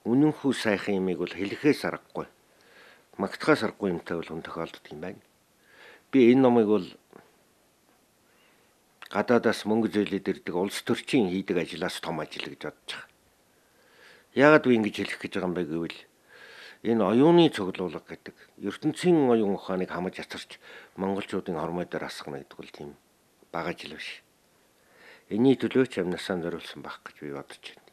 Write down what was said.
үнэнхүү сайхан юмыг бол хэлэхээс аргагүй. Магтахаас аргагүй юмтай бол хүн тохиолддог юм байна. Би энэ номыг бол гадаадаас мөнгө зөөлөд ирдэг улс төрчийн хийдэг ажлаас том ажил гэж бодож байгаа. Яагаад би ингэж хэлэх гэж байгаа юм бэ гэвэл энэ оюуны цуглуулга гэдэг ертөнцийн оюун ухааныг хамаж ацарч монголчуудын хормой дээр асгана гэдэг бол тийм бага ажил биш. Энийний төлөө ч амнасаа зориулсан байх гэж би бодож байна.